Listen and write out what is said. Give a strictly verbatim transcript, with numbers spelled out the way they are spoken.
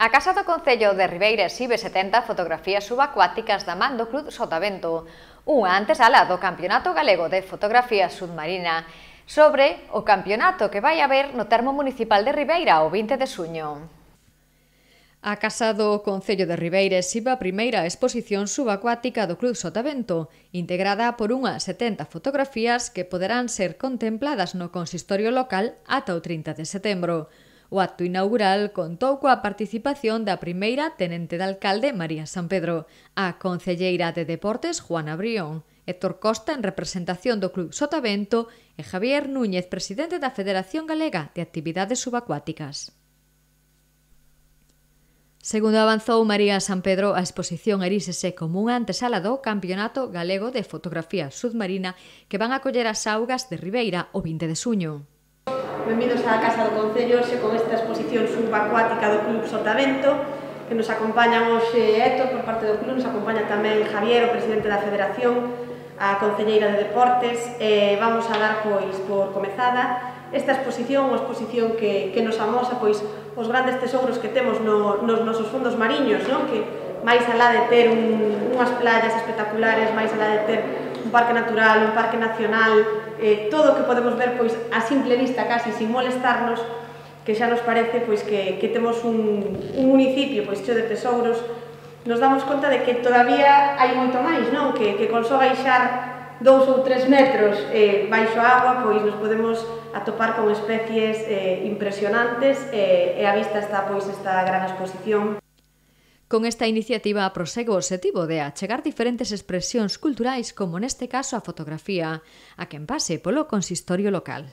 A Casa do Concello de Ribeira exhibe setenta fotografías subacuáticas da man do Club Sotavento, unha antesala do Campeonato Galego de Fotografía Submarina, sobre o campeonato que vai haber no termo municipal de Ribeira o vinte de xuño. A Casa do Concello de Ribeira exhibe a primeira exposición subacuática do Club Sotavento, integrada por unhas setenta fotografías que poderán ser contempladas no consistorio local ata o trinta de setembro. O acto inaugural contou coa participación da primeira tenente de alcalde María San Pedro, a concelleira de Deportes Juana Brión, Héctor Costa en representación do Club Sotavento e Javier Núñez, presidente da Federación Galega de Actividades Subacuáticas. Segundo avanzou María San Pedro, a exposición eríxese como unha antesala do Campeonato Galego de Fotografía Submarina que van a coller as augas de Ribeira o vinte de xuño. Benvidos á Casa do Concello, hoxe con esta exposición subacuática do Club Sotavento, que nos acompañan hoxe Héctor por parte do club, nos acompaña tamén Javier, o presidente da Federación, a concelleira de Deportes, e vamos a dar pois por comezada esta exposición, unha exposición que, que nos amosa pois os grandes tesouros que temos no, nos nosos fondos mariños, non? Que máis alá de ter un, unhas playas espectaculares, máis alá de ter un parque natural, un parque nacional, eh, todo o que podemos ver pois a simple vista, casi sin molestarnos, que xa nos parece pois que, que temos un, un municipio pois cheo de tesouros, nos damos conta de que todavía hai moito máis, non? Que, que con só baixar dous ou tres metros eh, baixo a agua, pois nos podemos atopar con especies eh, impresionantes eh, e a vista está pois esta gran exposición. Con esta iniciativa prosegue o obxectivo de achegar diferentes expresións culturais como neste caso a fotografía a quen pase polo consistorio local.